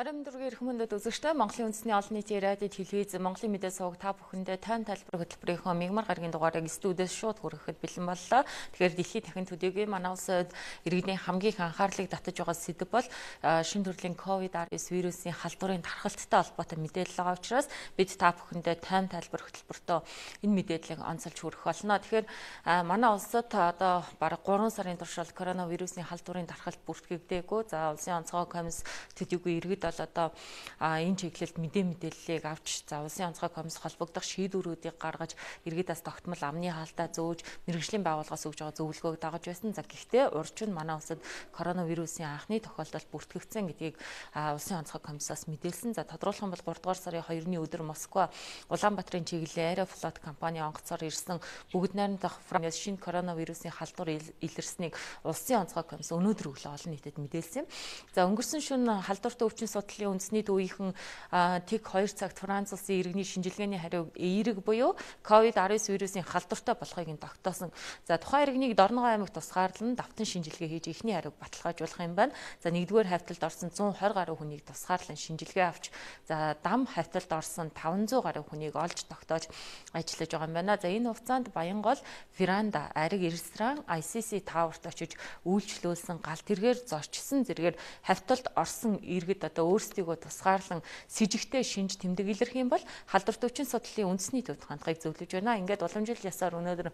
Аримдургийн эрх мөндөд үзэгчтэй Монголын үндэсний олон нийтийн радио телевиз Монголын мэдээ суваг та бүхэндээ тань тайлбар хөтөлбөрийнхөө мигмар гарагийн дугаарыг студиэс шууд хүрэхэд бэлэн боллоо. Тэгэхээр дэлхийн дахин төдийгүй манай улсад иргэдийн хамгийн их анхаарлыг татаж байгаа сэдэв бол шинэ төрлийн COVID-19 вирусын халдварын тархалттай холбоотой мэдээлэл байгаа учраас бид та бүхэндээ тань тайлбар хөтөлбөртөө энэ мэдээллийг онцолж хүргэх болно. Тэгэхээр манай улсад одоо бараг 3 сарын туршид коронавирусын халдварын тархалт бүртгэгдээгүй. За улсын онцгой комисс төдийгүй иргэд бол одоо энэ чиглэлд мэдээллийг авч за улсын онцгой комисс холбогдох шийдвэрүүдийг гаргаж иргэдээс тогтмол амны хаалтаа зөөж мэргэжлийн байгууллагаас өгж байгаа зөвлөгөөг дагаж байсан. За гэхдээ урьд нь манай улсад коронавирусын анхны тохиолдол бүртгэгдсэн гэдгийг улсын онцгой комиссаас мэдээлсэн. За тодруулах юм бол 3 дугаар сарын 2-ны өдөр Москва Улаанбаатарын чиглэлийн Аэрофлот компани онгоцоор ирсэн бүгд найрамдах Франц шинэ коронавирусын халдвар илэрснийг улсын онцгой комисс өнөөдөр өглөө олон нийтэд мэдээлсэн. За өнгөрсөн шөнө халдвартай өвчин судлалын үндэсний төвийнхэн ТИК 2 цагт Франц улсын иргэний шинжилгээний хариуг эерэг буюу COVID-19 вирусын халдвартай болохыг нь тогтоосон. За тухайн иргэнийг Дорногов аймагт тусгаарлан давтан шинжилгээ хийж эхний хариуг баталгаажуулах юм байна. За нэгдүгээр хавьталд орсон 120 гаруй хүнийг тусгаарлан шинжилгээ авч за дам хавьталд орсон 500 гаруй хүнийг олж тогтоож ажиллаж байгаа юм байна. За энэ хугацаанд Баянгол, Веранда, Ариг ресторан, ICC Tower-т очиж үйлчлүүлсэн галт тэргээр зорчсон зэрэгээр хавьталд орсон иргэд одоо өөрсдийгөө тусгаарлан сэжигтэй шинж тэмдэг илэрх юм бол халдварт өвчин судлалын үндэсний төвд хандахыг зөвлөж байна. Ингээд уламжлал ясаар өнөөдөр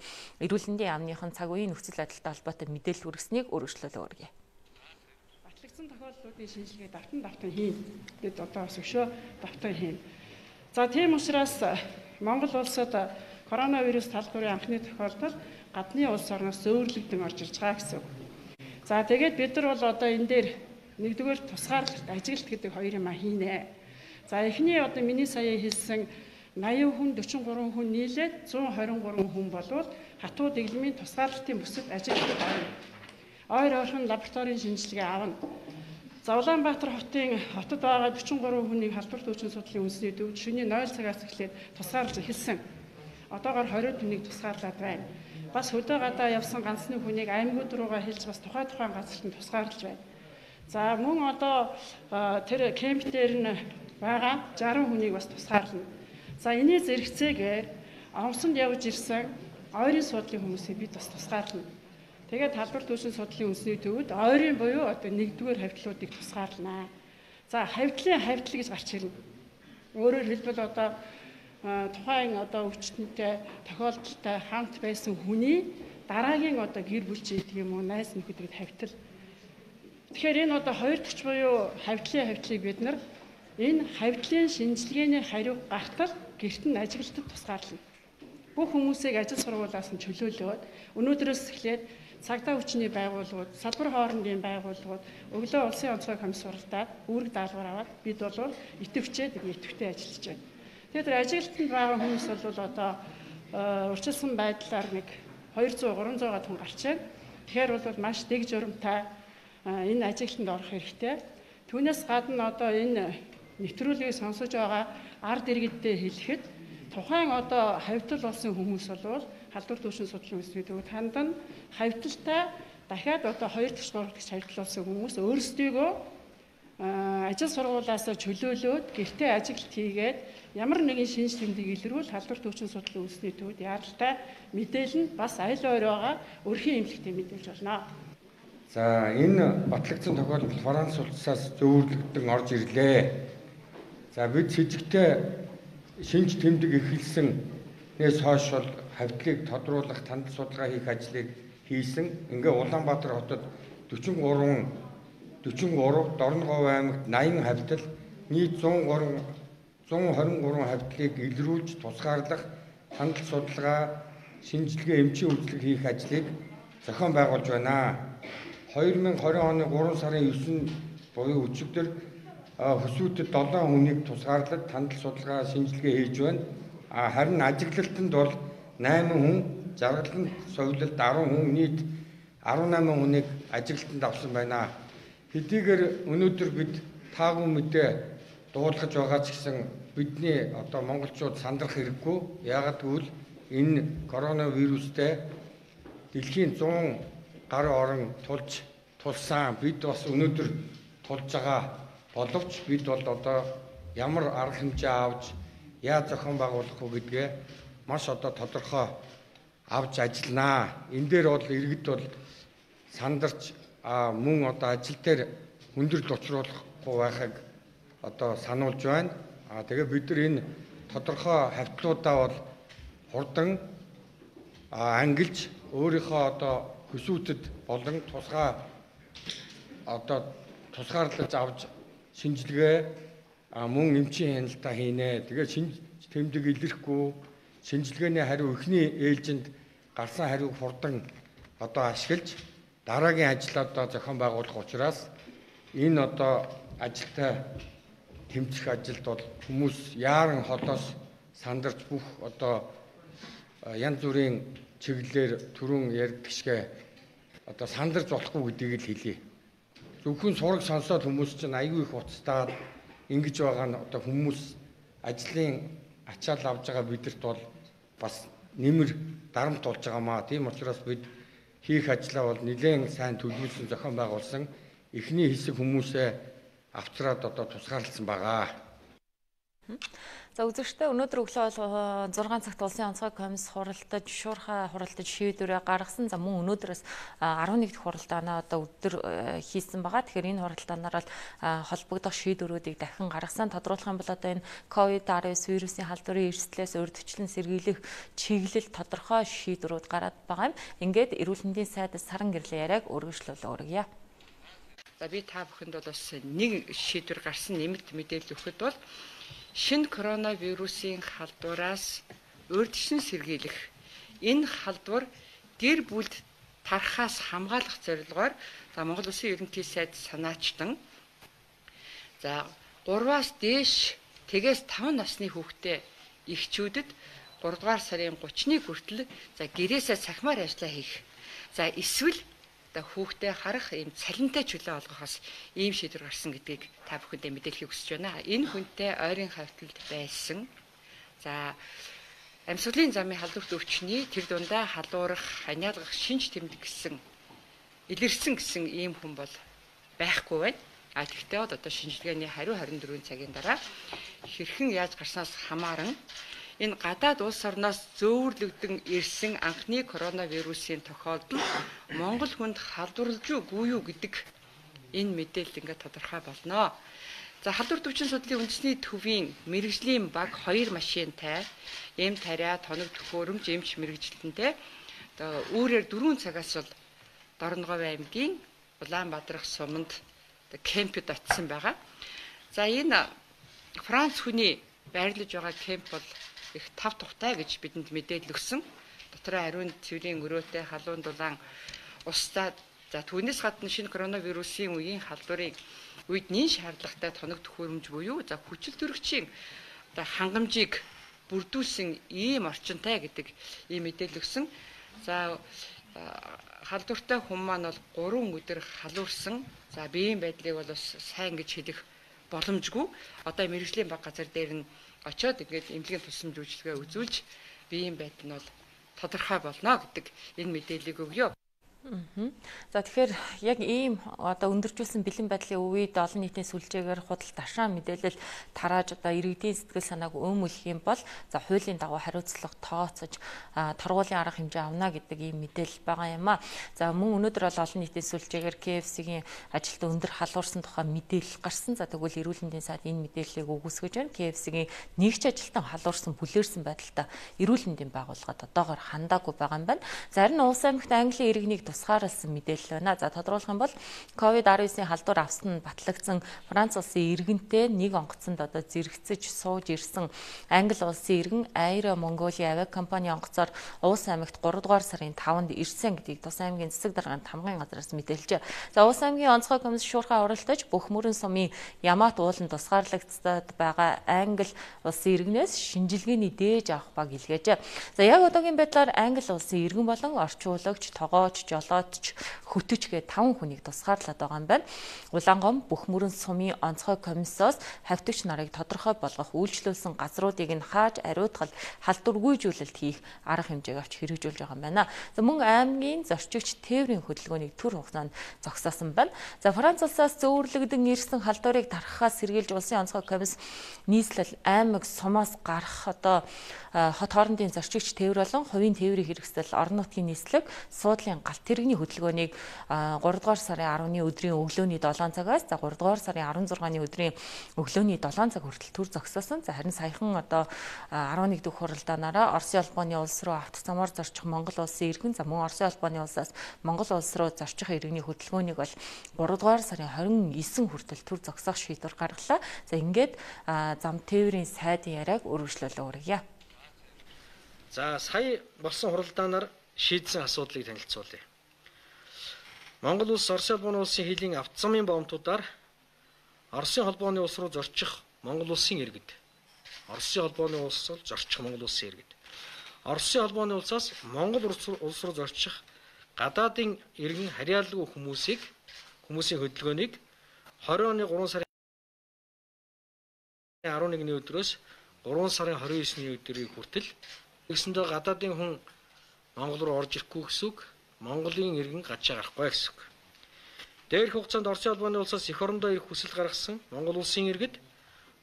эрүүл мэндийн яамныхан цаг үеийн нөхцөл байдалтай холбоотой мэдээлэл хүргэснийг өргөжлөлөө өргөе. Батлагдсан тохиолдлуудын шинжилгээ давтан хийн. Бид одоо өшөө давтан хийн. За тийм учраас Монгол улсад коронавирус талбарын анхны тохиолдол гадны улс орноос зөөвөрлөгдөн орж ирж байгаа гэсэн. За тэгээд бид нар бол одоо энэ дээр нэгдүгээр тусгаарлалт, ажиглалт гэдэг хоёр юм хийнэ. За эхний одоо миний сая хэлсэн 80 хүн, 43 хүн нийлээд 123 хүн болвол хатуу дэглэмийн тусгаарлалтын бүсэд ажиглалт авна. Ойр ойрхон лабораторийн шинжилгээ авна. За Улаанбаатар хотод байгаа 43 хүнийг халдварт өвчин судлалын үндэсний төвд шөнийн 0 цагаас эхлээд тусгаарлаж эхэлсэн. Одоогоор 20 хүнийг тусгаарлаад байна. Бас хөдөө гадаа явсан ганцны хүнийг аймагуд руугаа хэлж бас тухайн газарт нь тусгаарлаж байна. За мөн одоо тэр кемп дээр нь байгаа 60 хүнийг бас тусгаарлана. За энэний зэрэгцээгээр онцонд явж ирсэн ойрын суудлын хүмүүсийг бид бас тусгаарлана. Тэгээд халдварт өвчин судлалын үндэсний төвд ойрын буюу одоо нэгдүгээр хавьтлуудыг тусгаарлана. За хавьтлын хавьтал гэж гарч ирнэ. Өөрөөр хэлбэл одоо тухайн одоо өвчтөнтэй тохиолдолтой хамт байсан хүний дараагийн одоо гэр бүлч гэдэг юм уу найз нөхөд хавьтал. Тэгэхээр энэ одоо хоёр дахь буюу хавьтлыг бид нар энэ хавьтлын шинжилгээний хариуг гартал гэрт нь ажиглалтад тусгаарлана. Бүх хүмүүсийг ажил сургуулиас нь чөлөөлөөд өнөөдрөөс эхлээд цагдаа хүчний байгууллагууд, салбар хоорондын байгууллагууд өглөө улсын онцгой комисс суралцаад үүрэг даалгавар аваад бид бол идэвхжээд идэвхтэй ажиллаж байна. Тэгээд тэр ажиглалтанд байгаа хүмүүс бол одоо урьдчилсан байдлаар нэг 200-300 хүн гарч байна. Тэгэхээр бол маш дэг журамтай энэ ажиглалтанд орох хэрэгтэй. Түүнээс гадна одоо энэ нэвтрүүлгийг сонсож байгаа ард иргэддээ хэлэхэд тухайн одоо хавьтал болсон хүмүүс бол халдварт өвчин судлалын үндэсний төвд хандан хавьталтай дахиад одоо 2 дахь 3 дахь хавьтал болсон хүмүүс өөрсдийгөө ажил сургуулиас чөлөөлөөд гэртээ ажиглалт хийгээд ямар нэгэн шинж тэмдэг илрүүл халдварт өвчин судлалын үндэсний төвд яаралтай мэдээлэл нь бас аль ойр байгаа өрхийн эмнэлэгтээ мэдээлж болно. За энэ батлагдсан тохиолдолд Франц улсаас зөөвөрлөгдөн орж ирлээ. За бид сэжигтэй шинж тэмдэг эхэлснээс хойш бол хавьтлыг тодруулах, тандал судалгаа хийх ажлыг хийсэн. Ингээ Улаанбаатар хотод 43, Дорногов аймагт 80 хавьтал, нийт 123 хавьтлыг илрүүлж тусгаарлах, тандал судалгаа, шинжилгээ, эмчийн үйлчлэг хийх ажлыг зохион байгуулж байна. 2020 оны 3 сарын 9 буюу өчигдөр хөсвүүдэд 7 хүнийг тусгаарлаж тандал судалгаа шинжилгээ хийж байна. Харин ажиглалтанд бол 8 хүн, жаргаланд совилалд 10 хүн, нийт 18 хүнийг ажиглалтанд авсан байна. Хэдийгээр өнөөдөр бид таагүй мэдээ дуулгаж байгаа ч гэсэн бидний одоо монголчууд сандрах хэрэггүй. Яагаад гэвэл энэ коронавирустэй дэлхийн 100 гаруй орн тулсан бид бас өнөөдөр тулж байгаа Боловч бид бол одоо ямар арга хэмжээ авч яаж зохион байгуулах вэ гэдгээ маш одоо тодорхой авч ажилланаа. Энэ дээр бол иргэд бол сандарч мөн одоо ажил дээр хүндрэл учруулахгүй байхыг одоо сануулж байна. Тэгээ бид нар энэ тодорхой хавьтлуудаа бол хурдан ангилж өөрийнхөө одоо хүсүүтэд болон тусгаарлаж авч шинжилгээ мөн эмчийн хяналтаа хийнэ. Тэгээд шинж тэмдэг илэрхгүй шинжилгээний хариу эхний ээлжинд гарсан хариуг хурдан одоо ашиглаж дараагийн ажлаа одоо зохион байгуулах учраас энэ одоо ажилтай тэмцэх ажилд бол хүмүүс яаран холоос сандарч бүх одоо янз бүрийн чиглэлээр түрүүн ярьдаг шигэ одоо сандарч болохгүй гэдгийг л хэлье. Зөвхөн сураг сонсоод хүмүүс чинь аюу их уцтаад ингэж байгаа нь одоо хүмүүс ажлын ачаал авж байгаа бидэрт бол бас нэмэр дарамт болж байгаамаа. Тийм учраас бид хийх ажлаа бол нэлээд сайн төлөвлөсөн зохион байгуулсан эхний хэсэг хүмүүсээ авчраад одоо тусгаарласан байгаа. За үзэгчдээ өнөөдөр өглөө бол 6 цагт улсын онцгой комисс хуралдаж шуурхай хуралдаж шийдвэрээ гаргасан. За мөн өнөөдрөөс 11 дахь хуралдаанаа одоо өдөр хийсэн байгаа. Тэгэхээр энэ хуралдаанаар бол холбогдох шийдвэрүүдийг дахин гаргасан. Тодруулах юм бол одоо энэ COVID-19 вирусын халдварын эрсдлээс урьдчилан сэргийлэх чиглэл тодорхой шийдвэрүүд гараад байгаа юм. Ингээд эрүүл мэндийн сайдаас саран гэрлийн яриаг өргөжлүүлээ өргөе. За би та бүхэнд бол бас нэг шийдвэр гарсан нэмэлт мэдээлэл өгөхөд бол шинэ коронавирусын халдвараас урьдчилан сэргийлэх энэ халдвар гэр бүлд тархаас хамгаалах зорилгоор Монгол Улсын ерөнхий сайд санаачтан 3-аас дээш тэгээс 5 насны хүүхдэд эхчүүдэд 3 дугаар сарын 30-ны хүртэл гэрээсээ цахимаар ажиллаа хийх. Эсвэл хүүхдээ харах ийм цалинтай чөлөө олгохоос ийм шийдвэр гарсан гэдгийг та бүхэндээ мэдээлэхийг хүсэж байна. Энэ хүнтэй ойрын хавьталд байсан. Амьсгалын замын халдварт өвчний тэр дундаа халуурах, ханиалгах, шинж тэмдэг гэсэн илэрсэн гэсэн ийм хүн бол байхгүй байна. Тэгэхдээ одоо шинжилгээний хариу 24 цагийн дараа хэрхэн яаж гарснаас хамааран энэ гадаад улс орноос зөөвөрлөгдөн ирсэн анхны коронавирусын тохиолдол Монгол хүнд халдварлаж үгүй юу гэдэг энэ мэдээлэл ингээд тодорхой болно. Халдвар төвчин судлалын үндэсний төвийн мэрэгжлийн баг 2 машинтай, эм тариа, тоног төхөөрөмж, эмч мэрэгжилтэнтэй үүрээр 4 цагаас бол Дорноговь аймгийн Улаанбаатар суманд кемпэд очисон байгаа. Энэ Франц хүний байрлаж байгаа кемп бол их 5 тухтай гэж бидэнд мэдээлэл өгсөн. Дотроо ариун цэврийн өрөөтэй халуун дулаан устдаа түүнээс гадна шинэ коронавирусын үеийн халдварын үед нэн шаардлагатай тоног төхөөрөмж буюу хүчил төрөгчийн хангамжийг бүрдүүлсэн ийм орчинтай гэдэг ийм мэдээлэл өгсөн. Халдвартай хүн маань бол 3 өдөр халуурсан. Биеийн байдлыг бол бас сайн гэж хэлэх боломжгүй. Одоо мэрэгжлийн баг газар дээр нь очиод ингээд эмнэлгийн тусламж үйлчилгээ үзүүлж биеийн байдал нь бол тодорхой болно гэдэг энэ мэдээллийг өгье. Тэгэхээр яг ийм одоо өндөржүүлсэн бэлэн байдлын үед олон нийтийн сүлжээгээр худал ташаа мэдээлэл тарааж одоо иргэдийн сэтгэл санааг өмүүлэх юм бол хуулийн дагуу хариуцлага тооцож торгуулийн арга хэмжээ авна гэдэг ийм мэдээлэл байгаа юм аа. Мөн өнөөдөр бол олон нийтийн сүлжээгээр KFC-гийн ажилд өндөр халуурсан тухай мэдээлэл гарсан. Тэгвэл эрүүл мэндийн сайд энэ мэдээллийг үгүйсгэж байна. KFC-гийн нэгч ажилтан халуурсан бүлээрсэн байдалтай эрүүл мэндийн байгууллагад одоогоор хандаагүй байгаа юм байна. Зарим улс аймагт Английн иргэнийг тусгаарласан мэдээлэл байна. Тодруулах юм бол COVID-19-ийн халдвар авсан нь батлагдсан Франц улсын иргэнтэй нэг онгоцонд одоо зэрэгцэж сууж ирсэн Англи улсын иргэн Air Mongolia авиакомпани онгоцоор Уус аймагт 3 дугаар сарын 5-нд ирсэн гэдгийг Тус аймгийн засаг даргын хамгааллын газраас мэдээлжээ. Уус аймгийн онцгой комисс шуурхай оролдож бүх мөрөн сумын Ямаат ууланд тусгаарлагдсад байгаа Англи улсын иргэнээс шинжилгээний дээж авах баг илгээжээ. Яг одоогийн байдлаар Англи улсын иргэн болон орчуулагч, тогооч, болоод ч хөтөч гэ 5 хүнийг тусгаарлаад байгаа юм байна. Улаангом бүх мөрөн сумын онцгой комиссоос хавьтагч нарыг тодорхой болгох үйлчлүүлсэн газруудыг нь хааж ариутгал халдваргүйжүүлэлт хийх арга хэмжээг авч хэрэгжүүлж байгаа юм байна. За мөн аймгийн зорчигч тээврийн хөдөлгөөнийг төр хугацаанд зогсоосон байна. За Франц улсаас зөөвөрлөгдөн ирсэн халдварыг тархахаас сэргийлж улсын онцгой комисс нийслэл аймаг сумаас гарах одоо хот хоорондын зорчигч тээвэр болон хувийн тээврийн хэрэгсэл орон нутгийн нийслэг суудлын галт тэрэгний хөдөлгөөнийг 3 дугаар сарын 10-ны өдрийн өглөөний 7 цагаас за 3 дугаар сарын 16-ны өдрийн өглөөний 7 цаг хүртэл төр зогсоосон. За харин саяхан одоо 11 дэх хуралдаанаараа Оросын албаны улс руу автоцамаар зорчих Монгол улсын иргэн за мөн Оросын албаны улсаас Монгол улс руу зорчих иргэний хөдөлгөөнийг бол 3 дугаар сарын 29 хүртэл төр зогсоох шийдвэр гаргалаа. За ингээд зам тээврийн сайдын яриаг өргөжлөлөө өргөе. За сая болсон хуралдаанаар шийдсэн асуудлыг танилцуулъя. Монгол улс Оросын албаны улсын хилийн автозамын боомтуудаар Оросын холбооны улс руу зорчих Монгол улсын иргэд Оросын холбооны улс руу зорчих Монгол улсын иргэд Оросын холбооны улсаас Монгол улс руу зорчих гадаадын иргэн харьяалгүй хүмүүсийн хөдөлгөөнийг 20 оны 3 сарын 11-ний өдрөөс 3 сарын 29-ний өдрийг хүртэл Тэгсэндээ гадаадын хүн Монгол руу орж ирэхгүй гэсэн үг, Монголын иргэн гадшаа гарахгүй гэсэн үг. Дээрх хугацаанд Оросын албаны улсаас эх орондоо ирэх хүсэл гаргасан Монгол улсын иргэд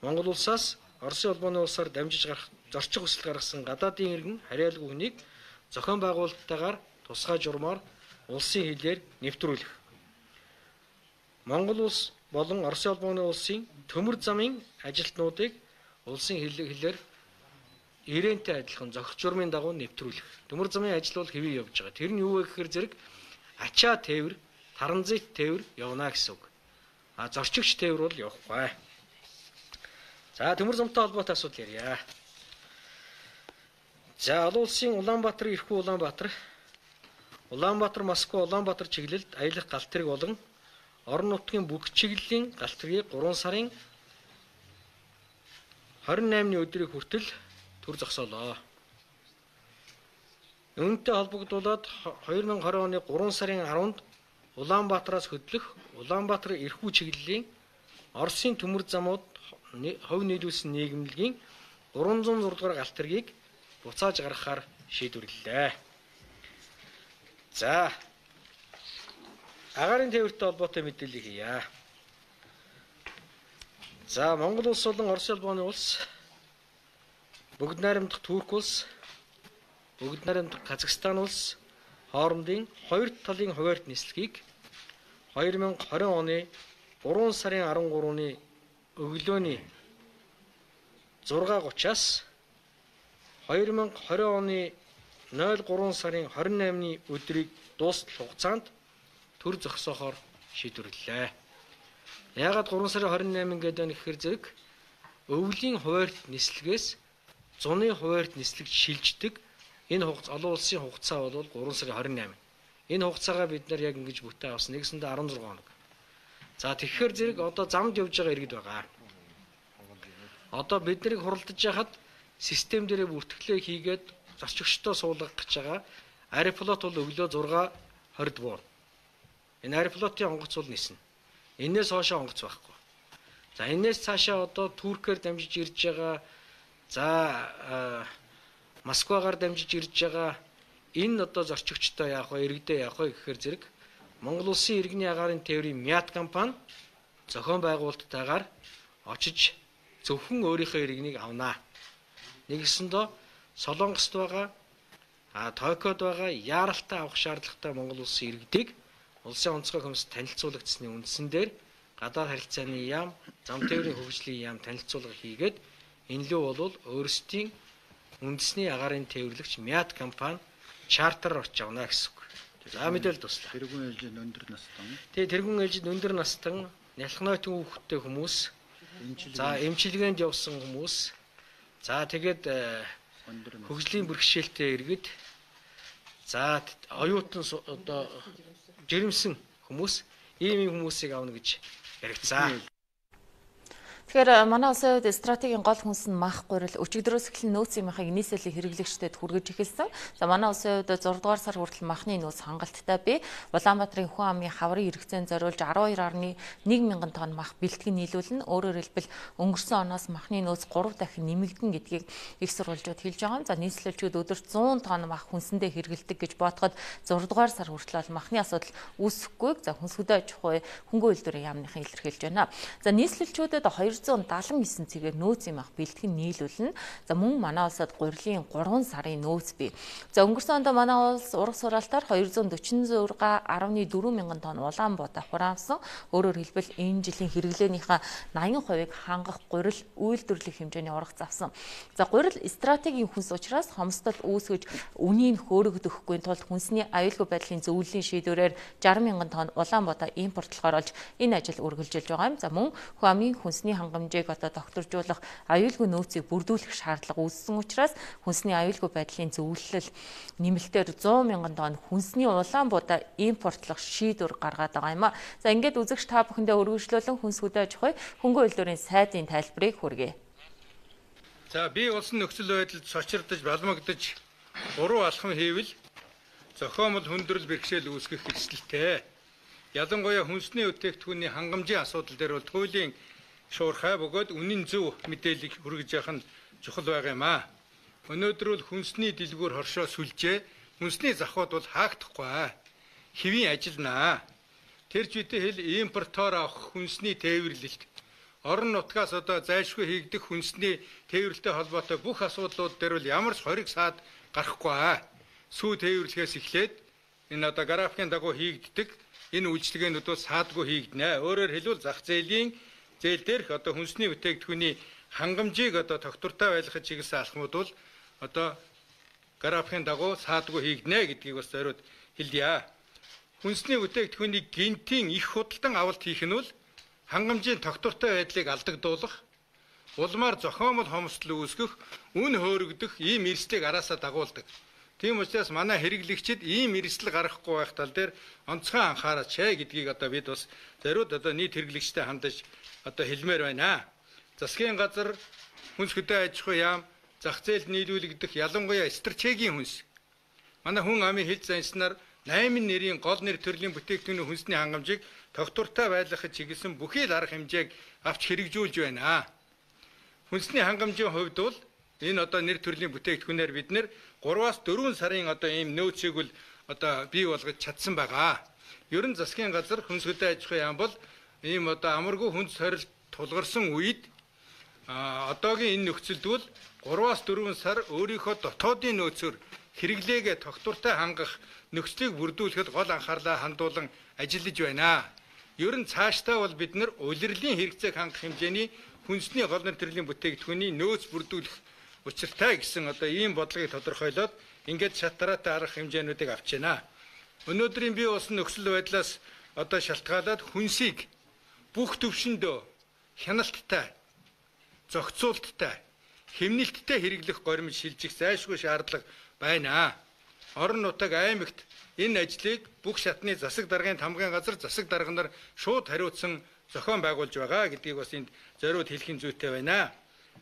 Монгол улсаас Оросын албаны улсаар дамжиж гарах зорчих хүсэл гаргасан гадаадын иргэн харьяалгүй хүнийг зохион байгуулалттайгаар тусгай журмаар улсын хилээр нэвтрүүлэх. Монгол улс болон Оросын албаны улсын төмөр замын ажилтнуудыг улсын хилээр ирээнтэй адилхан зохих журмын дагуу нэвтрүүлэх. Төмөр замын ажил бол хэвээ явж байгаа. Тэр нь юу вэ гэхээр зэрэг ачаа тээвэр, таранзит тээвэр явна гэсэн үг. Зорчигч тээвэр бол явахгүй. За төмөр замтай холбоотой асуудал ярья. За олон улсын Улаанбаатар, Ирхүү Улаанбаатар, Улаанбаатар, Москва, Улаанбаатар чиглэлд аялах галт тэрэг болон орон нутгийн бүх чиглэлийн галт тэргийг 3 сарын 28-ны өдрийг хүртэл төр зогсоолоо. Үүнтэй холбогдуулаад 2020 оны 3 сарын 10-нд Улаанбаатараас хөдлөх Улаанбаатар Ирхүү чиглэлийн Оросын төмөр замууд хувь нийлүүлсэн нийгэмлэгийн 306 дугаар галт тэргийг буцааж гаргахаар шийдвэрлэлээ. За агаарын тээвэртэй холбоотой мэдээлэл хийе. За Монгол улс болон Оросын албаны улс Бүгд найрамдах Турк улс, бүгд найрамдах Казахстан улс хоорондын хоёр талын хуваарьт нислэгийг 2020 оны 3 сарын 13-ны өглөөний 6:30-аас 2020 оны 03 сарын 28-ны өдрийг дуустал хугацаанд төр зогсоохоор шийдвэрлэлээ. Яагаад 3 сарын 28 гэдэг нь гэхээр зэрэг өвлийн хуваарьт нислэгээс зуны хуваарьт нислэгт шилждэг энэ олон улсын хугацаа бол 3 сарын 28. Энэ хугацаагаа бид нар яг ингэж бүтээ авсан нэгсэндээ 16 хоног. За тэгэхээр зэрэг одоо замд явж байгаа иргэд байгаа. Одоо бид нарыг хуралдаж яхад систем дээрээ бүртгэлээ хийгээд зорчигчдоо суулгах гэж байгаа. Аэрофлот бол өглөө 6:20 буур. Энэ аэрофлотын онгоц бол ниснэ. Энээс хоошоо онгоц байхгүй. За энээс цаашаа одоо Туркээр дамжиж ирж байгаа. За Москвагаар дамжиж ирж байгаа энэ одоо зорчигчтой яах вэ, иргэдээ яах вэ гэхээр зэрэг Монгол улсын иргэний агаарын тээврийн МЯТ компани зохион байгуулалттайгаар очиж зөвхөн өөрийнхөө иргэнийг авнаа. Нэгсэндээ Солонгост байгаа, Токиод байгаа яаралтай авах шаардлагатай Монгол улсын иргэдийг улсын онцгой комисс танилцуулагдсны үндсэн дээр гадаад харилцааны яам, зам тээврийн хөгжлийн яам танилцуулга хийгээд энэ лөө бол өөрсдийн үндэсний агаарын тээвэрлэгч МЯТ компани чартер орж авна гэсэн үг. За мэдээлэл туслаа. Тэргүүн ээлжид өндөр настан. Тэгээ тэргүүн ээлжид өндөр настан, нялхнойт хүүхэдтэй хүмүүс, за эмчилгээнд явсан хүмүүс, за тэгээд хөгжлийн бэрхшээлтэй иргэд, за оюутан одоо жирэмсэн хүмүүс, ийм хүмүүсийг авна гэж яригдсан. Тэгэхээр манай улсын хувьд стратегийн гол хүнс нь мах гурил өчигдрөөс эхлэн нөөц юмхыг нийслэлийн хэрэглэгчдэд хүргэж эхэлсэн. За манай улсын хувьд 6 дугаар сар хүртэл махны нөөц хангалттай бий. Улаанбаатарын Хүн амын хаврын хэрэгцээнд зориулж 12.1 мянган тонн мах бэлтгэн нийлүүлнэ. Өөрөөр хэлбэл өнгөрсөн оноос махны нөөц 3 дахин нэмэгдэн гэдгийг их сурвалжууд хэлж байгаа юм. За нийслэлчүүд өдөрт 100 тонн мах хүнсэндээ хэрэгэлдэг гэж бодоход 6 дугаар сар хүртэл махны асуудал үүсэхгүй. За хүнсгүдэ аж ахуй хөнгөө үйлдвэрийн яамныхан илэрхийлж байна. За нийслэлчүүдэд 279 цэгээр нөөц юм ах бэлтгэн нийлүүлнэ. За мөн манай улсад гурилын 3 сарын нөөц бий. За өнгөрсөн онд манай улс ураг сураалтаар 246.4 мянган тонн Улаанбаатар хураамсан. Өөрөөр хэлбэл энэ жилийн хэрэглээнийхээ 80%-ыг хангах гурил үйлдвэрлэх хэмжээний ураг завсан. За гурил стратегийн хүнс учраас хомсдол үүсгэж үнийг хөөрөгдөхгүй тулд хүнсний аюулгүй байдлын зөвлөлийн шийдвэрээр 60 мянган тонн Улаанбаатар импортлохоор олж энэ ажил үргэлжилж байгаа юм. За мөн Хүн амын хүнсний хангамжийг тогтворжуулах аюулгүй нөөцийг бүрдүүлэх шаардлага үүссэн учраас хүнсний аюулгүй байдлын зөвлөлөл нэмэлтээр 100 мянган тонн хүнсний Улаанбаатар импортлох шийдвэр гаргаад байгаа юм а. За ингээд үзэгч та бүхэндээ өргөжлүүлэн хүнсгүдэ аж ахуй хөнгөө үйлдвэрийн сайдын тайлбарыг хүргэе. За би улсын нөхцөл байдалд сочирдож балмагдж уруу алхам хийвэл зохиомжтой хүндрэл бэрхшээл үүсгэх эрсдэлтэй. Ялангуяа хүнсний бүтээгдэхүүний хангамжийн асуудал дээр бол туйлын шуурхай бөгөөд үнэн зөв мэдээлэл хүргэж явах нь чухал байгаа юм а. Өнөөдөр бол хүнсний дэлгүүр хоршоо сүлжээ, хүнсний завхууд бол хаагдахгүй. Хэвийн ажилнаа. Тэр жишээ хэл импортоор авах хүнсний тээвэрлэлт, орон нутгаас зайлшгүй хийгдэх хүнсний тээвэрлэлтэй холбоотой бүх асуудлууд дээр бол ямар ч хориг саад гарахгүй. Сүү тээвэрлэхээс эхлээд энэ графикийн дагуу хийгддэг энэ үйлчлэгээнүүд бол саадгүй хийгднэ. Өөрөөр хэлбэл зах зээл дээрх хүнсний бүтээгдэхүүний хангамжийг тогтвортой байлгахад чиглэсэн алхмууд бол графикийн дагуу саадгүй хийгднэ гэдгийг бас зориуд хэлье. Хүнсний бүтээгдэхүүний гинтийн их худалдан авалт хийх нь бол хангамжийн тогтвортой байдлыг алдагдуулах, улмаар зохиомжтой хомсдол үүсгэх, үн хөөрөгдөх ийм эрсдлийг араасаа дагуулдаг. Тийм учраас манай хэрэглэгчид ийм эрсдэл гаргахгүй байх тал дээр онцгой анхаараач гэдгийг бид бас зориуд нийт хэрэглэгчтэй хандаж хэлмээр байна. Засгийн газар хүнсгүдэ аж ахуй яам зах зээлд нийлүүлэгдэх ялангуяа стратегийн хүнс. Манай Хүн амын хил занснаар 8 нэрийн гол нэр төрлийн бүтээгдэхүүний хүнсний хангамжийг тогтвортой байлгахад чиглэсэн бүхий л арга хэмжээг авч хэрэгжүүлж байна. Хүнсний хангамжийн хувьд бол энэ нэр төрлийн бүтээгдэхүүнээр бид нэр 3-аас 4 сарын ийм нөөцийг бол бий болгож чадсан байгаа. Ер нь засгийн газар хүнсгүдэ аж ахуй яам бол ийм амаргүй хүнс хорилт тулгарсан үед одоогийн энэ нөхцөлд бол 3-аас 4 сар өөрийнхөө дотоодын нөөцөөр хэрэглээгээ тогтвортой хангах нөхцөлийг бүрдүүлэхэд гол анхаарлаа хандуулан ажиллаж байна. Ер нь цаашдаа бол бид нар улирлын хэрэгцээг хангах хэмжээний хүнсний гол нэр төрлийн бүтээгдэхүүний нөөц бүрдүүлэх учиртай гэсэн ийм бодлогыг тодорхойлоод ингээд шалтгаалтай арга хэмжээнүүдийг авч байна. Өнөөдрийн бий болсон нөхцөл байдлаас шалтгаалаад хүнсийг бүх төвшөндөө хяналттай, зохицуулттай, хэмнэлттэй хэрэглэх горимж шилжих зайлшгүй шаардлага байна. Орон нутаг аймагт энэ ажлыг бүх шатны засаг даргын тамгын газар засаг дарга нар шууд хариуцсан зохион байгуулж байгаа гэдгийг бас энд зориуд хэлхийн зүйтэй байна.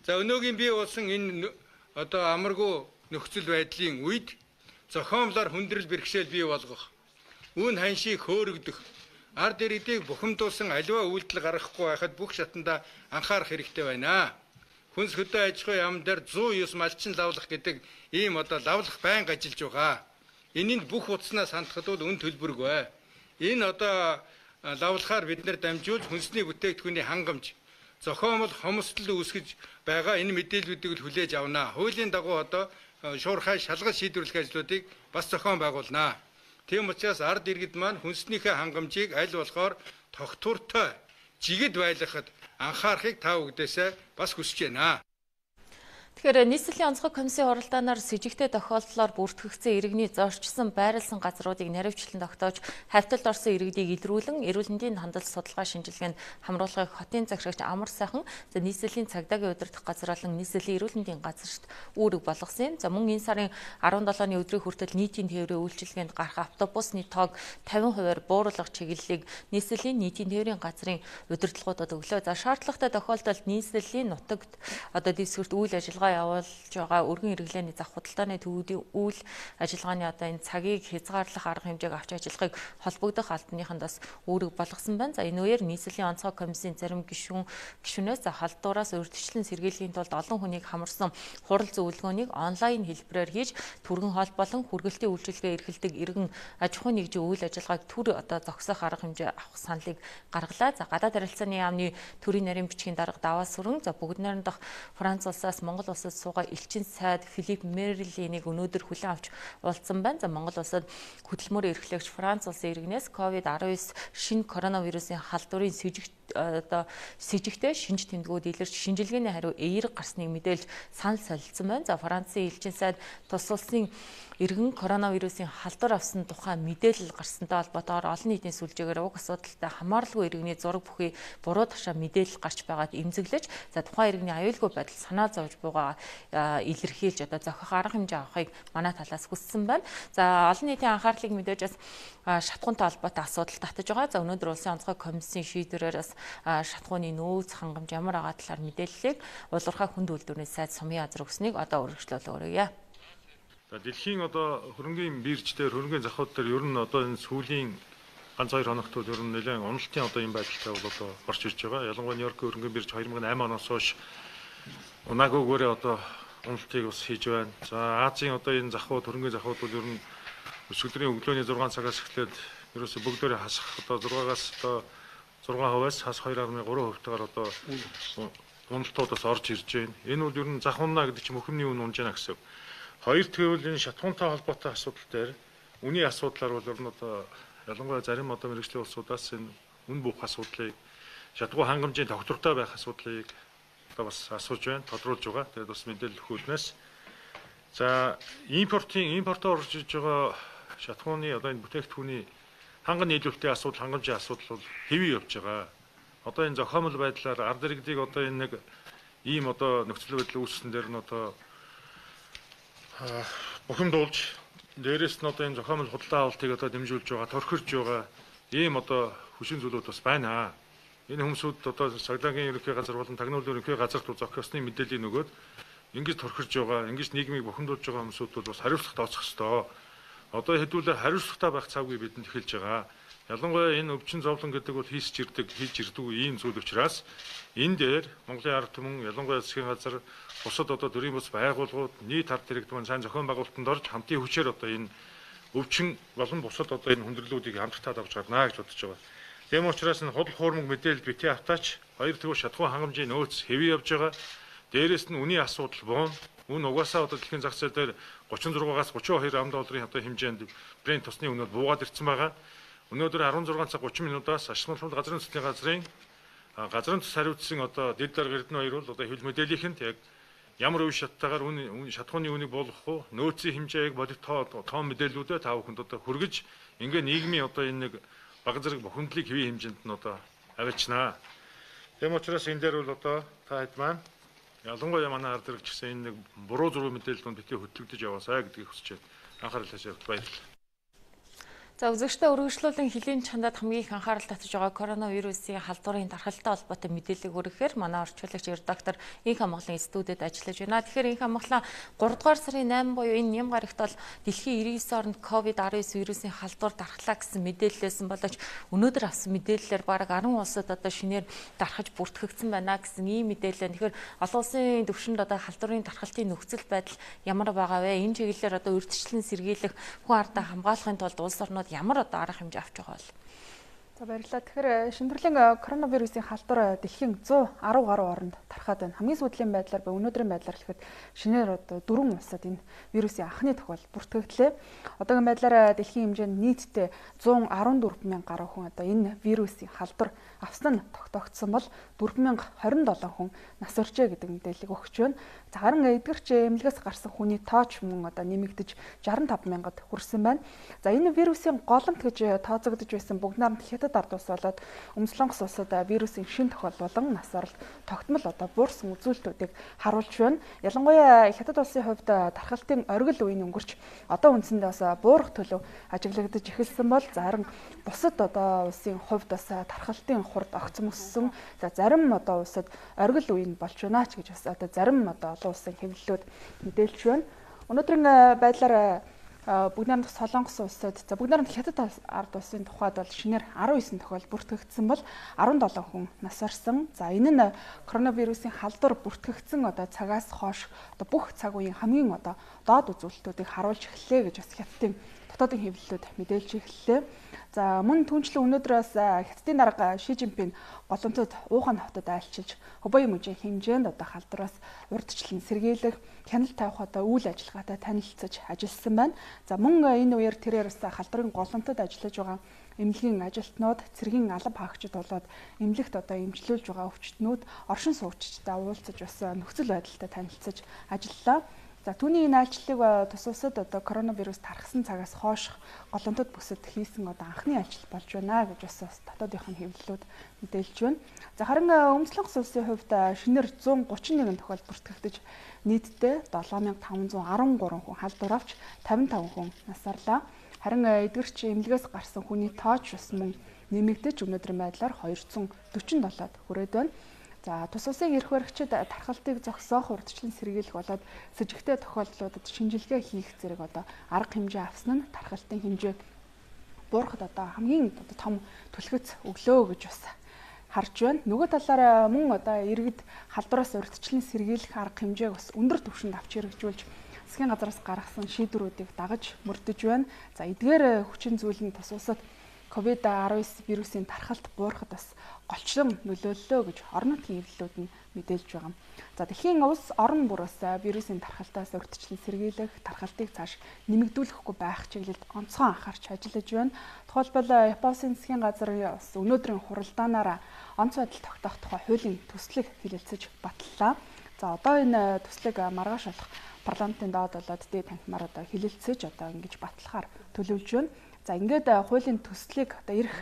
За өнөөгийн бий болсон энэ амаргүй нөхцөл байдлын үед зохиомлоор хүндрэл бэрхшээл бий болгох, үн ханшийг хөөрөгдөх, ард иргэдийг бухимдуулсан аливаа үйлдэл гаргахгүй байхад бүх шатанда анхаарах хэрэгтэй байна. Хүнсгүдэ аж ахуй яам дээр 109 малчин лавлах гэдэг ийм лавлах байнга ажиллаж байгаа. Энэнд бүх утаснаас хандхад бол үн төлбөргүй. Энэ лавлахаар бид нэр дамжуулж хүнсний бүтээгдэхүүний хангамж, зохиомжтой хомсдол үүсгэж байгаа энэ мэдээллүүдийг хүлээж авнаа. Хуулийн дагуу шуурхай шалгаж шийдвэрлэх ажлуудыг бас зохион байгуулнаа. Тийм учраас ард иргэд маань хүнснийхээ хангамжийг аль болохоор тогтвортой жигэд байлгахад анхаарахыг та бүхэдээс бас хүсэж байна. Тэгэхээр нийслэлийн онцгой комиссийн хуралдаанаар с жигтэй тохиолдлоор бүртгэгдсэн иргэний зорчсон байрлсан газруудыг наривчлан тогтоож хавьталд орсон иргэдийг илрүүлэн эрүүл мэндийн хандлт судалгаа шинжилгээнд хамруулахыг хотын захирагч Амар сайхан нийслэлийн цагдаагийн удирдах газар болон нийслэлийн эрүүл мэндийн газарт үүрэг болгосон юм. За мөн энэ сарын 17-ны өдрийн хүртэл нийтийн тээврийн үйлчилгээнд гарах автобусны тоог 50% бууруулах чиглэлийг нийслэлийн нийтийн тээврийн газрын удирдлагуудад өглөө. За шаардлагатай тохиолдолд нийслэлийн нутагт дэвсгэрт үйл ажиллагаа явуулж байгаа өргөн хэрэглээний зах худалдааны төвүүдийн үйл ажиллагааны энэ цагийг хязгаарлах арга хэмжээг авч ажиллахыг холбогдох албаныханд бас үүрэг болгосон байна. За энэ үеэр нийслэлийн онцгой комиссийн зарим гишүүнээс халдвараас урьдчилан сэргийлэхийн тулд олон хүнийг хамарсан хурал зөвлөгөөнийг онлайн хэлбэрээр хийж түргэн хоол болон хүргэлтийн үйлчилгээ эрхэлдэг иргэн аж ахуйн нэгжийн үйл ажиллагааг төр зогсоох арга хэмжээ авах саналыг гаргалаа. За гадаад харилцааны яамны төрийн нарийн бичгийн дарга даваа сүрэн бүгд найрамдах Франц улсаас Монгол улсад суугаа элчин сайд Филипп Мерлинийг өнөөдөр хүлээн авч уулзсан байна. За Монгол улсад хөдөлмөр эрхлэгч Франц улсын иргэнээс COVID-19 шинэ коронавирусын халдварын сэжигтэй шинж тэмдгүүд илэрч шинжилгээний хариу эерэг гарсныг мэдээлж санал солилцсон байна. За Францын элчин сайд тус улсын иргэн коронавирусын халдвар авсан тухай мэдээлэл гарсантай холбоотойгоор олон нийтийн сүлжээгээр уг асуудалтай хамааралгүй иргэний зураг бүхий буруу ташаа мэдээлэл гарч байгаад эмзэглэж за тухайн иргэний аюулгүй байдал санаа зовж буйгаа илэрхийлж зохих арга хэмжээ авахыг манай талаас хүссэн байна. За олон нийтийн анхаарлыг мэдээж бас шатхуунтай холбоотой асуудал татаж байгаа. За өнөөдөр улсын онцгой комиссийн шийдвэрээр бас шатхууны нөөц хангамж ямар байгаа талаар мэдээллийг улуурхай хүнд үйлдвэрийн сайд Сумын азар өгснийг өргөжлүүлээ. За дэлхийн хөрөнгөний бирж дээр хөрөнгөний захууд дээр ер нь энэ сүүлийн ганц 2 хоногт ер нь нэлээд уналтын юм байдалтай бол гарч ирж байгаа. Ялангуяа Нью-Йоркийн хөрөнгөний бирж 2008 оноос хойш унаагүйгээр уналтыг бас хийж байна. За Азийн энэ захууд хөрөнгөний захууд бол ер нь өсөлтийн өглөөний 6 цагаас эхлээд ерөөсө бүгдөө хасах 6-аас 6%-аас хас 2.3%-таар уналтуудаас орж ирж байна. Энэ бол ер нь зах унаа гэдэг чинь мөхөмний үн унж байна гэсэн. Хоёр тэгвэл энэ шатхуунтай холбоотой асуудал дээр үний асуудлаар бол ер нь ялангуяа зарим мэргэжлийн улсуудаас энэ үн бух асуудлыг шатгуу хангамжийн тогтвортой байх асуудлыг бас асууж байна, тодруулж байгаа. Тэгээд бас мэдээлэл өгөхнөөс за импортоор орж иж байгаа шатхууны энэ бүтээгдэхүүний ханган нийлүүлэлтийн асуудал, хангамжийн асуудал бол хэвээ явж байгаа. Энэ зохиомжтой байдлаар ард иргэдийг энэ нэг ийм нөхцөл байдал үүссэн дээр нь бухимдуулж дээрээс нь энэ зохиомжтой худалдаа авалтыг дэмжүүлж байгаа, торхирж байгаа ийм хүчин зүйлүүд бас байна. Энэ хүмүүсүүд цагдаагийн ерөнхий газар болон тагнуулын ерөнхий газарт зохиосны мэдээллийг нөгөөд ингэж торхирж байгаа, ингэж нийгмийг бухимдуулж байгаа хүмүүсүүд бол бас хариуцлага тооцох ёстой. Хэдүүлээ хариуцлагатай байх цагийг бидэнд эхэлж байгаа. Ялангуяа энэ өвчин зовлон гэдэг бол хийж ирдэг ийм зүйл учраас энэ дээр Монголын ард түмэн ялангуяа засгийн газар бусад төрийн бус байгууллагууд нийт ард иргэдмэн сайн зохион байгуулалтанд орж хамтын хүчээр энэ өвчин болон бусад энэ хүндрэлүүдийг хамтдаа давж гарнаа гэж бодож байгаа. Тийм учраас энэ худал хуурмаг мэдээлэл битгий автаач хоёр тэгвэл шатхуун хангамжийн нөөц хэвээ явж байгаа. Дээрээс нь үний асуудал буун үн угаасаа дэлхийн зах зээл дээр 36-аас 32 ам долларын хэмжээнд Брент тосны үнэд буугаад ирсэн байгаа. Өнөөдөр 16 цаг 30 минутаас ашиглалтын газрын төслийн газрын төс хариуцсан дэд дарга Эрдэнэ хоёр бол хэвлэл мэдээллийнхэнд яг ямар үе шаттайгаар шатхууны үнийг болгох уу, нөөцийн хэмжээг бодит тоон мэдээллүүдэд та бүхэнд хүргэж ингээ нийгмийн энэ нэг баг зэрэг бухимдлыг хэвийн хэмжээнд нь авчнаа. Тийм учраас энэ дээр бол та хэд маань ялангуяа манай ард иргч гэсэн энэ нэг буруу зураг мэдээлэлд битгий хөтлөгдөж яваасаа гэдгийг хүсэж байна. Анхаарал тавьж баярлалаа. За үзэгчдээ өргөжлүүлэн хилийн чандад хамгийн их анхаарал татж байгаа коронавирусын халдварын дархалтай холбоотой мэдээллийг өргөхээр манай орчуулагч редактор Инх Амгалан студид ажиллаж байна. Тэгэхээр Инх Амгалан 3 дугаар сарын 8 буюу энэ ням гарагт бол дэлхийн 99 оронд COVID-19 вирусын халдвар дархлаа гэсэн мэдээлэлсэн боловч өнөөдөр авсан мэдээллээр бараг 10 улсад шинээр дархаж бүртгэгдсэн байна гэсэн ийм мэдээлэл. Тэгэхээр олон улсын түвшинд халдварын дархалтын нөхцөл байдал ямар байгаа вэ? Энэ чиглэлээр урьдчилан сэргийлэх хүн ардаа хамгаалахын тулд улс орнууд ямар арга хэмжээ авч байгаа бол? За баярлалаа. Тэгэхээр шинэ төрлийн коронавирусын халдвар дэлхийн 110 гаруй оронд тархаад байна. Хамгийн сүүлийн байдлаар өнөөдрийн байдлаар хэлэхэд шинээр одоо 4 улсад энэ вирусын анхны тохиол бүртгэгдлээ. Одоогийн байдлаар дэлхийн хэмжээнд нийтдээ 114 мянган гаруй хүн одоо энэ вирусын халдвар авсан нь тогтоогдсон бол 4027 хүн нас оржээ гэдэг мэдээлэл өгч байна. За харин эдгэрч эмнэлгээс гарсан хүний тооч мөн одоо нэмэгдэж 65 мянгад хүрсэн байна. За энэ вирусын голомт гэж тооцогдож байсан бүгд найрамд хятад ард улс болоод Өмнөдлөнгос улсад вирусын шин тохиол болон нас оролт тогтмол одоо буурсан үзүүлэлтүүдийг харуулж байна. Ялангуяа хятад улсын хувьд тархалтын оргил үеийн өнгөрч одоо үндсэндээ бас буурах төлөв ажиглагдаж эхэлсэн бол зарим бусад одоо улсын хувьд бас тархалтын хурд огцом өссөн. За зарим одоо улсад оргил үе нь болж байна ч гэж бас одоо зарим одоо олон улсын хэвлэлүүд мэдээлж байна. Өнөөдрийн байдлаар бүгд найрамд Солонгос улсад за бүгд найрамд хятад ард улсын тухайд бол шинээр 19 тохиол бүртгэгдсэн бол 17 хүн нас орсон. За энэ нь коронавирусын халдвар бүртгэгдсэн одоо цагаас хойш одоо бүх цаг үеийн хамгийн одоо доод үзүүлэлтүүдийг харуулж эхэллээ гэж бас хятадын дотоодын хэвлэлүүд мэдээлж эхэллээ. За мөн түнчлэн өнөөдрөөс хятадын дарга Ши Жинпин голомтод Ухаан хотод айлчилж Хубэй мужийн хэмжээнд одоо халдвараас урьдчилан сэргийлэх, хяналт тавих одоо үйл ажиллагаатай танилцж ажилласан байна. За мөн энэ үеэр тэрээр бас халдварын голомтод ажиллаж байгаа эмнэлгийн ажилтнууд, цэргийн алба хаагчид болоод эмнэлэгт одоо эмчлүүлж байгаа өвчтнүүд, оршин суугчдтай уулзаж бас нөхцөл байдалтай танилцж ажиллалаа. За түүний энэ айлчлалыг тус улсад одоо коронавирус тархсан цагаас хойш голомтод бүсэд хийсэн одоо анхны айлчлал болж байна гэж бас дотоодынхын хэвлэлүүд мэдээлж байна. За харин Өмнөдлөнгос улсын хувьд шинээр 131 тохиол бүртгэгдэж нийтдээ 7513 хүн халдвар авч 55 хүн нас орлоо. Харин эдгэрч эмнэлгээс гарсан хүний тооч бас мөн нэмэгдэж өнөөдрийн байдлаар 247-д хүрээд байна. За тус улсын эрх баригчид тархалтыг зогсоох урьдчилан сэргийлэх болоод с ิจ гтэй тохиолдлуудад шинжилгээ хийх зэрэг одоо арга хэмжээ авсан нь тархалтын хэмжээ буурахад одоо хамгийн одоо том түлхэц өглөө гэж бас харж байна. Нөгөө талаараа мөн одоо иргэд халдвараас урьдчилан сэргийлэх арга хэмжээг бас өндөр түвшинд авч хэрэгжүүлж засгийн газраас гаргасан шийдвэрүүдийг дагаж мөрдөж байна. За эдгээр хүчин зүйл нь тус улсад COVID-19 вирусын тархалт буурахад бас голчлон нөлөөллөө гэж орон нутгийн хэвлэлүүд нь мэдээлж байгаа. За дэлхийн улс орон бүр бас вирусын тархалтаас урьдчилан сэргийлэх, тархалтыг цааш нэмэгдүүлэхгүй байх чиглэлд онцгой анхаарч ажиллаж байна. Тухайлбал Японы засгийн газар бас өнөөдрийн хуралдаанаараа онц байдал тогтоох тухай хуулийн төслийг хэлэлцэж баталлаа. За одоо энэ төслийг маргааш болох парламентын доод болоод дээд танхимаар одоо хэлэлцэж одоо ингэж батлахаар төлөвлөж байна. За ингээд хуулийн төслийг одоо ирэх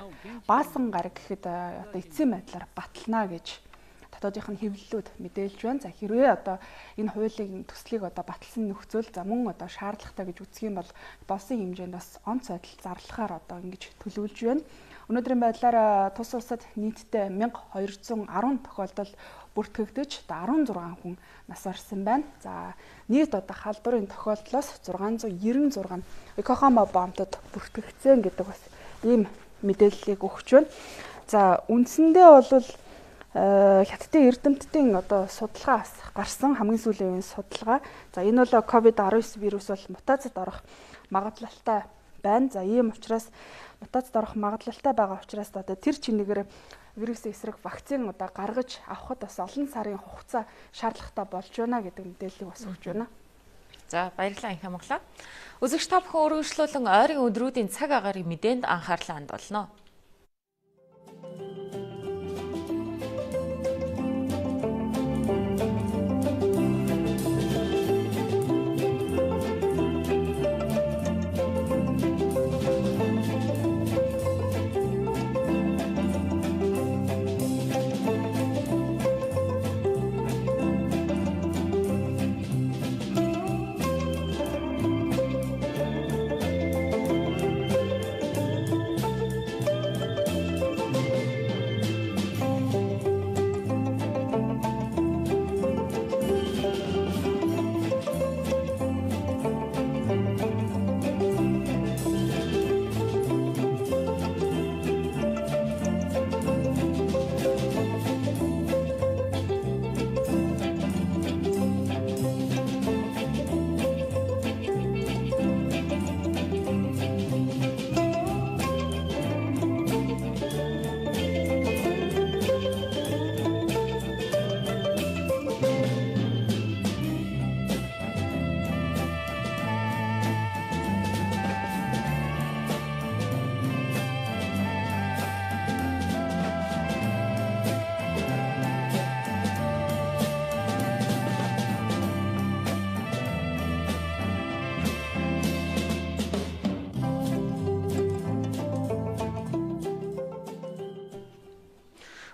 баасан гараг гэхэд одоо эцсийн байдлаар батална гэж дотоодынх нь хэвлэлүүд мэдээлж байна. За хэрвээ одоо энэ хуулийн төслийг одоо баталсан нөхцөл за мөн одоо шаардлагатай гэж үзэх юм бол болсон хэмжээнд бас онц байдал зарлахаар одоо ингэж төлөвлөж байна. Өнөөдрийн байдлаар тус улсад нийтдээ 1210 тохиолдол бүртгэгдэж 16 хүн нас орсон байна. За нийт одоо халдварын тохиолдлоос 696 Йокохама бомтод бүртгэгдсэн гэдэг бас ийм мэдээллийг өгч байна. За үндсэндээ бол хятадын эрдэмтдийн одоо судалгаас гарсан хамгийн сүүлийн үеийн судалгаа. За энэ бол COVID-19 вирус бол мутацид орох магадлалтай байна. За ийм учраас мутацид орох магадлалтай байгаа учраас одоо тэр чинээгээр вирусын эсрэг вакцин одоо гаргаж авахд бас олон сарын хугацаа шаардлагатай болж байна гэдэг мэдээллийг бас өгч байна. За баярлалаа Анхи Монголоо. Үзэгч та бүхэн өргөжлүүлэн ойрын өдрүүдийн цаг агаарыг мэдээнд анхаарлаа хандуулно.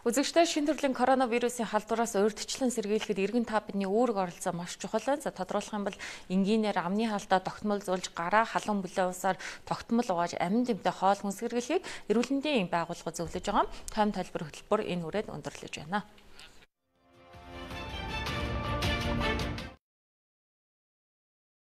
Үзэгчдээ шинэ төрлийн коронавирусын халдвараас урьдчилан сэргийлэхэд иргэн та бидний үүрэг оролцоо маш чухал. За тодруулах юм бол энгийнээр амны халдаа тогтмолзуулж гараа халуун бүлээн усаар тогтмол угааж амин тэмдэг хоол хүнсгэргэлхийг эрүүл мэндийн байгууллага зөвлөж байгаа. Тайм тайлбар хөтөлбөр энэ хүрээд өндөрлөж байна.